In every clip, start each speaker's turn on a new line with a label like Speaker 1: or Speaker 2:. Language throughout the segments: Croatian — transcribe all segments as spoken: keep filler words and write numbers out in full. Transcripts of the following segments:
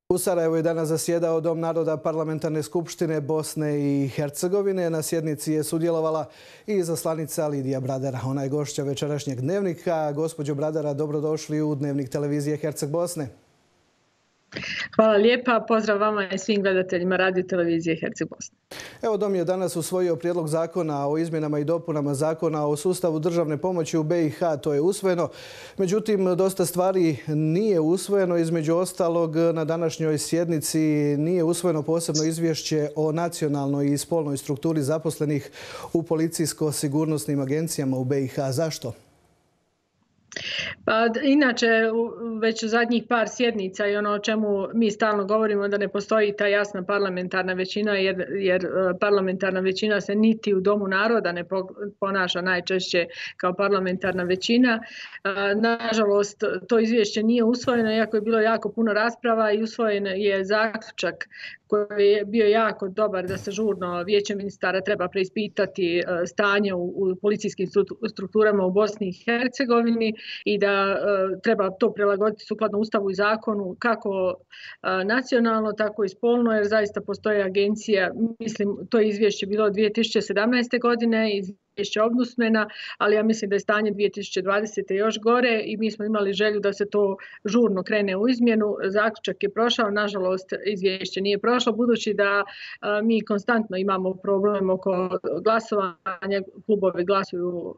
Speaker 1: U Sarajevu je danas zasjedao Dom naroda Parlamentarne skupštine Bosne i Hercegovine. Na sjednici je sudjelovala i izaslanica Lidija Bradara. Ona je gošća večerašnjeg dnevnika. Gospođo Bradara, dobrodošli u Dnevnik televizije Herceg Bosne.
Speaker 2: Hvala lijepa. Pozdrav vama i svim gledateljima radio televizije Herceg Bosne.
Speaker 1: Evo, Dom je danas usvojio prijedlog zakona o izmjenama i dopunama zakona o sustavu državne pomoći u B i H. To je usvojeno. Međutim, dosta stvari nije usvojeno. Između ostalog, na današnjoj sjednici nije usvojeno posebno izvješće o nacionalnoj i spolnoj strukturi zaposlenih u policijsko-sigurnosnim agencijama u B i H. Zašto?
Speaker 2: Pa, inače, već u zadnjih par sjednica i ono o čemu mi stalno govorimo da ne postoji ta jasna parlamentarna većina jer, jer parlamentarna većina se niti u Domu naroda ne ponaša najčešće kao parlamentarna većina. Nažalost, to izvješće nije usvojeno iako je bilo jako puno rasprava i usvojen je zaključak koji je bio jako dobar da se žurno Vijeće ministara treba preispitati stanje u, u policijskim strukturama u Bosni i Hercegovini i da uh, treba to prilagoditi sukladno Ustavu i zakonu kako uh, nacionalno, tako i spolno, jer zaista postoji agencija, mislim, to je izvješće bilo dvije tisuće sedamnaeste. godine, izvješće ombudsmana, ali ja mislim da je stanje dvije tisuće dvadesete. još gore i mi smo imali želju da se to žurno krene u izmjenu. Zaključak je prošao, nažalost izvješće nije prošlo, budući da uh, mi konstantno imamo problem oko glasovanja, klubovi glasuju uh,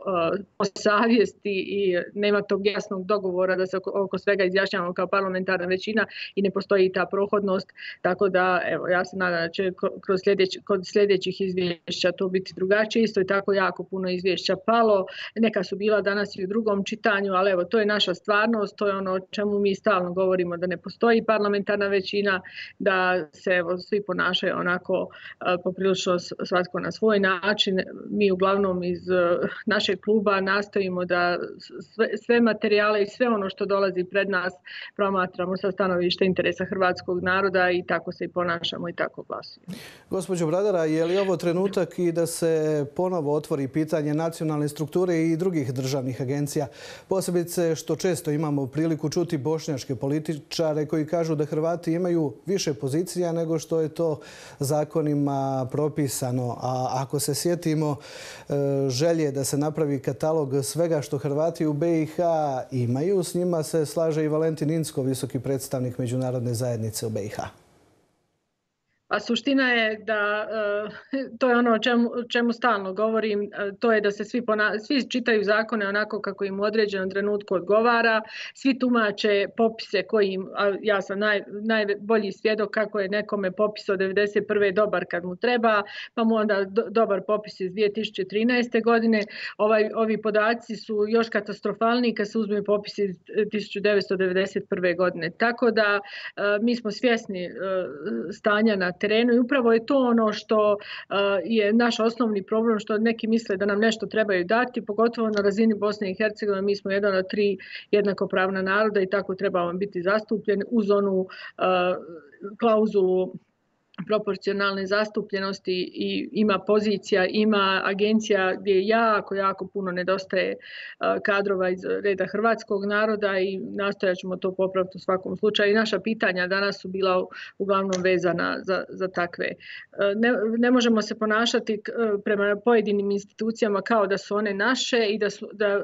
Speaker 2: po savjesti i nema tog jasnog dogovora da se oko svega izjašnjavamo kao parlamentarna većina i ne postoji ta prohodnost, tako da evo, ja se nadam da će kroz sljedeć, kod sljedećih izvješća to biti drugačije. Isto je tako jako puno izvješća palo, neka su bila danas i u drugom čitanju, ali evo, to je naša stvarnost, to je ono o čemu mi stalno govorimo, da ne postoji parlamentarna većina, da se evo, svi ponašaju onako uh, poprilično svatko na svoj način. Mi uglavnom iz uh, našeg kluba nastojimo da sve, sve materijale i sve ono što dolazi pred nas promatramo sa stanovišta interesa hrvatskog naroda i tako se i ponašamo i tako glasujemo.
Speaker 1: Gospođo Bradara, je li ovo trenutak i da se ponovo otvori pitanje nacionalne strukture i drugih državnih agencija? Posebice što često imamo priliku čuti bošnjačke političare koji kažu da Hrvati imaju više pozicija nego što je to zakonima propisano. A ako se sjetimo želje da se napravi katalog svega što Hrvati u B i H imaju, s njima se slaže i Valentin Incko, visoki predstavnik međunarodne zajednice u B i H.
Speaker 2: A suština je da, to je ono o čemu, čemu stalno govorim, to je da se svi, pona, svi čitaju zakone onako kako im u određenom trenutku odgovara, svi tumače popise koji im, a ja sam naj, najbolji svjedok kako je nekome popis od devedeset prve dobar kad mu treba, pa mu onda do, dobar popis iz dvije tisuće trinaeste. godine. Ovaj, ovi podaci su još katastrofalniji kad se uzme popis iz tisuću devetsto devedeset prve. godine. Tako da mi smo svjesni stanja na terenu i upravo je to ono što uh, je naš osnovni problem, što neki misle da nam nešto trebaju dati, pogotovo na razini Bosne i Hercegovine. Mi smo jedan od tri jednakopravna naroda i tako trebamo biti zastupljeni uz onu uh, klauzulu proporcionalne zastupljenosti i ima pozicija, ima agencija gdje jako, jako puno nedostaje kadrova iz reda hrvatskog naroda i nastojat ćemo to popraviti u svakom slučaju. I naša pitanja danas su bila uglavnom vezana za, za takve. Ne, ne možemo se ponašati prema pojedinim institucijama kao da su one naše i da, su, da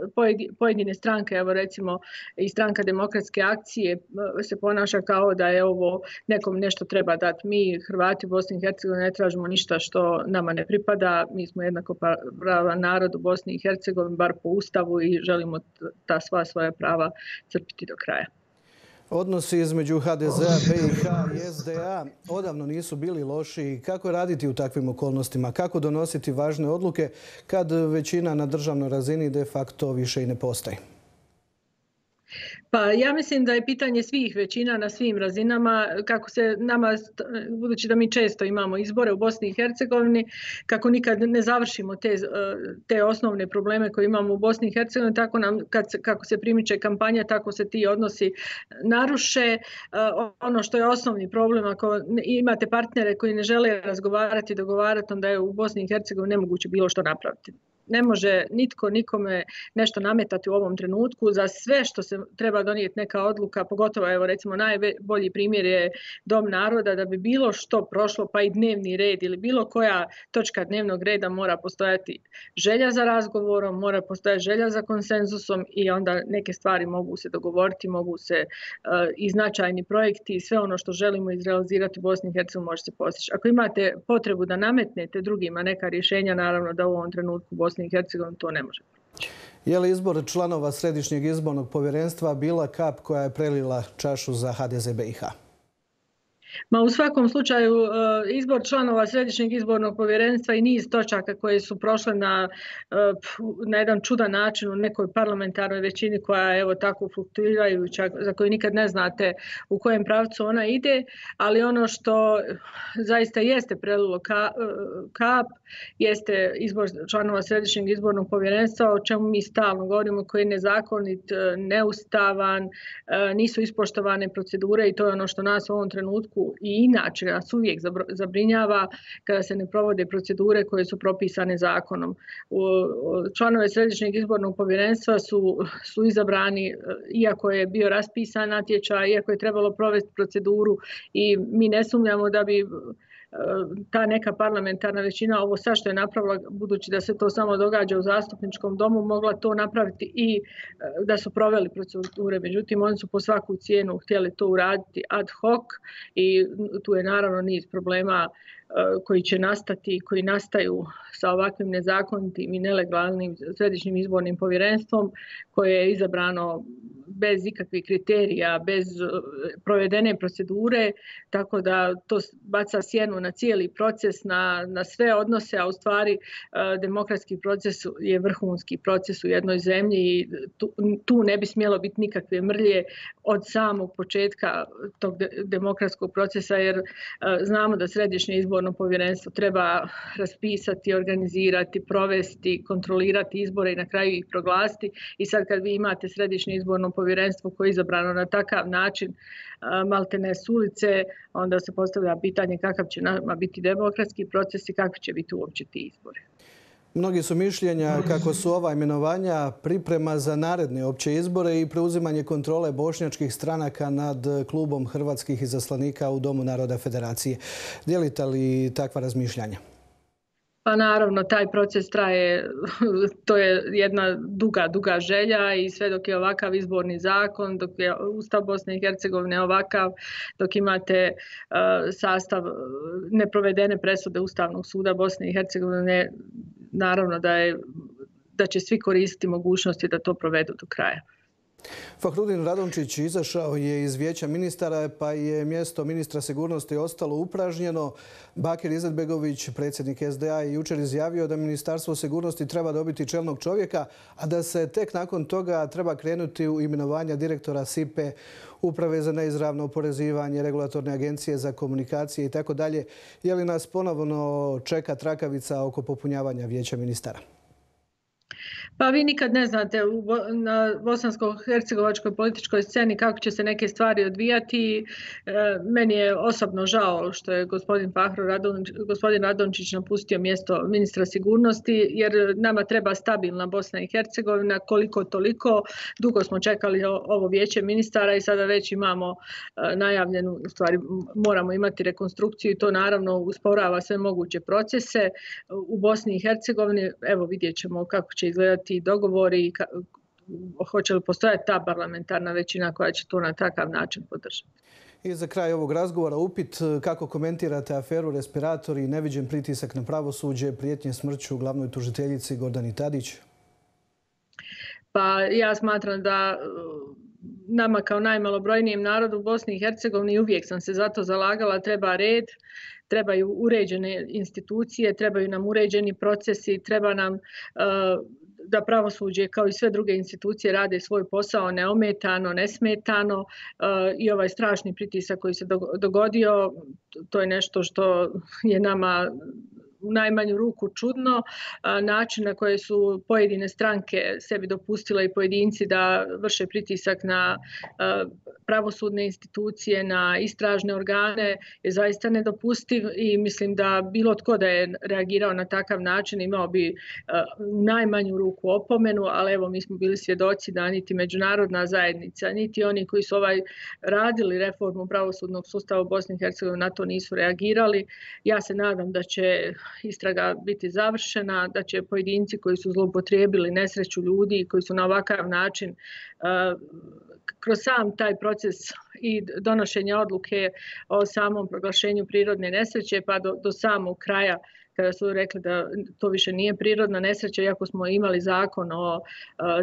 Speaker 2: pojedine stranke, evo recimo i stranka Demokratske akcije se ponaša kao da je ovo nekom nešto treba dati. Mi Hrvati Hrvati u Bosni i Hercegovini ne tražimo ništa što nama ne pripada. Mi smo jednakopravan narod u Bosni i Hercegovini, bar po Ustavu, i želimo ta sva svoja prava crpiti do kraja.
Speaker 1: Odnosi između H D Z-a, B i H i S D A odavno nisu bili loši. Kako raditi u takvim okolnostima? Kako donositi važne odluke kad većina na državnoj razini de facto više i ne postoji?
Speaker 2: Pa ja mislim da je pitanje svih većina na svim razinama, kako se nama, budući da mi često imamo izbore u Bosni i Hercegovini, kako nikad ne završimo te, te osnovne probleme koje imamo u Bosni i Hercegovini, tako nam, kad se, kako se primiče kampanja, tako se ti odnosi naruše. Ono što je osnovni problem, ako imate partnere koji ne žele razgovarati, dogovarati, onda je u Bosni i Hercegovini nemoguće bilo što napraviti. Ne može nitko nikome nešto nametati u ovom trenutku. Za sve što se treba donijeti neka odluka, pogotovo evo recimo najbolji primjer je Dom naroda, da bi bilo što prošlo, pa i dnevni red ili bilo koja točka dnevnog reda mora postojati želja za razgovorom, mora postojati želja za konsenzusom i onda neke stvari mogu se dogovoriti, mogu se uh, i značajni projekti i sve ono što želimo izrealizirati u Bosni i Hercegovini može se postići. Ako imate potrebu da nametnete drugima neka rješenja, naravno da u ovom trenutku u Bosni i Hercegovini to ne može.
Speaker 1: Je li izbor članova Središnjeg izbornog povjerenstva bila kap koja je prelila čašu za H D Z B i H?
Speaker 2: Ma u svakom slučaju izbor članova Središnjeg izbornog povjerenstva i niz točaka koje su prošle na, na jedan čudan način u nekoj parlamentarnoj većini koja je evo tako fluktuirajuća, za koju nikad ne znate u kojem pravcu ona ide, ali ono što zaista jeste prelilo kap jeste izbor članova Središnjeg izbornog povjerenstva, o čemu mi stalno govorimo, koji je nezakonit, neustavan, nisu ispoštovane procedure i to je ono što nas u ovom trenutku i inače nas uvijek zabrinjava kada se ne provode procedure koje su propisane zakonom. Članove Središnjeg izbornog povjerenstva su, su izabrani iako je bio raspisan natječaj, iako je trebalo provesti proceduru i mi ne sumnjamo da bi ta neka parlamentarna većina ovo sad što je napravila, budući da se to samo događa u zastupničkom domu, mogla to napraviti i da su proveli procedure. Međutim, oni su po svaku cijenu htjeli to uraditi ad hoc i tu je naravno niz problema koji će nastati, koji nastaju sa ovakvim nezakonitim i nelegalnim Središnjim izbornim povjerenstvom koje je izabrano bez ikakvih kriterija, bez provedene procedure, tako da to baca sjenu na cijeli proces, na, na sve odnose, a u stvari demokratski proces je vrhunski proces u jednoj zemlji i tu, tu ne bi smjelo biti nikakve mrlje od samog početka tog de, demokratskog procesa, jer znamo da Središnje izborno povjerenstvo treba raspisati, organizirati, provesti, kontrolirati izbore i na kraju ih proglasiti. I sad kad vi imate Središnje izborno povjerenstvo koje je izabrano na takav način, maltene s ulice, onda se postavlja pitanje kakav će nama biti demokratski proces i kakvi će biti uopće ti izbori.
Speaker 1: Mnogi su mišljenja kako su ova imenovanja priprema za naredne opće izbore i preuzimanje kontrole bošnjačkih stranaka nad klubom hrvatskih izaslanika u Domu naroda Federacije. Dijelite li takva razmišljanja?
Speaker 2: Pa naravno, taj proces traje, to je jedna duga, duga želja i sve dok je ovakav izborni zakon, dok je Ustav Bosne i Hercegovine ovakav, dok imate uh, sastav neprovedene presude Ustavnog suda Bosne i Hercegovine, naravno da, je, da će svi koristiti mogućnosti da to provedu do kraja.
Speaker 1: Fahrudin Radončić izašao je iz Vijeća ministara, pa je mjesto ministra sigurnosti ostalo upražnjeno. Bakir Izetbegović, predsjednik S D A, je jučer izjavio da Ministarstvo sigurnosti treba dobiti čelnog čovjeka, a da se tek nakon toga treba krenuti u imenovanja direktora S I P E, Uprave za neizravno oporezivanje, Regulatorne agencije za komunikacije i tako dalje. Je li nas ponovno čeka trakavica oko popunjavanja Vijeća ministara?
Speaker 2: Pa vi nikad ne znate na bosansko-hercegovačkoj političkoj sceni kako će se neke stvari odvijati. Meni je osobno žao što je gospodin Fahro Radončić, gospodin Radončić napustio mjesto ministra sigurnosti, jer nama treba stabilna Bosna i Hercegovina, koliko toliko. Dugo smo čekali ovo vijeće ministara i sada već imamo najavljenu, u stvari moramo imati rekonstrukciju i to naravno usporava sve moguće procese u Bosni i Hercegovini. Evo vidjet ćemo kako će izgledati ti dogovori i hoće li postojati ta parlamentarna većina koja će to na takav način podržati.
Speaker 1: I za kraj ovog razgovora upit kako komentirate aferu respiratori i neviđen pritisak na pravosuđe, prijetnje smrću glavnoj tužiteljici Gordani Tadić?
Speaker 2: Pa ja smatram da nama kao najmalobrojnijem narodu u Bosni i Hercegovini, uvijek sam se za to zalagala, treba red, trebaju uređene institucije, trebaju nam uređeni procesi, treba nam uh, da pravosuđe kao i sve druge institucije rade svoj posao neometano, nesmetano uh, i ovaj strašni pritisak koji se dogodio, to je nešto što je nama u najmanju ruku čudno. Način na koje su pojedine stranke sebi dopustile i pojedinci da vrše pritisak na pravosudne institucije, na istražne organe je zaista nedopustiv i mislim da bilo tko da je reagirao na takav način imao bi u najmanju ruku opomenu, ali evo mi smo bili svjedoci da niti međunarodna zajednica, niti oni koji su ovaj radili reformu pravosudnog sustava u Bosni i Hercegovini na to nisu reagirali. Ja se nadam da će istraga biti završena, da će pojedinci koji su zloupotrijebili nesreću ljudi, koji su na ovakav način kroz sam taj proces i donošenja odluke o samom proglašenju prirodne nesreće pa do, do samog kraja kada su rekli da to više nije prirodna nesreća, iako smo imali zakon o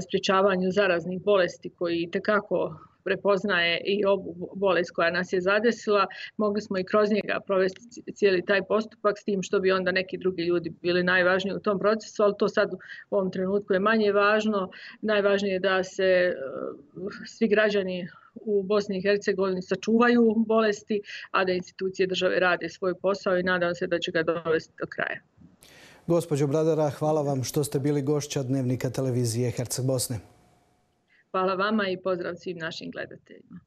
Speaker 2: sprječavanju zaraznih bolesti koji itekako prepoznaje i ovu bolest koja nas je zadesila, mogli smo i kroz njega provesti cijeli taj postupak s tim što bi onda neki drugi ljudi bili najvažniji u tom procesu, ali to sad u ovom trenutku je manje važno. Najvažnije je da se svi građani u Bosni i Hercegovini sačuvaju bolesti, a da institucije države rade svoj posao i nadam se da će ga dovesti do kraja.
Speaker 1: Gospođo Bradara, hvala vam što ste bili gošća Dnevnika televizije Herceg Bosne.
Speaker 2: Hvala vama i pozdrav svim našim gledateljima.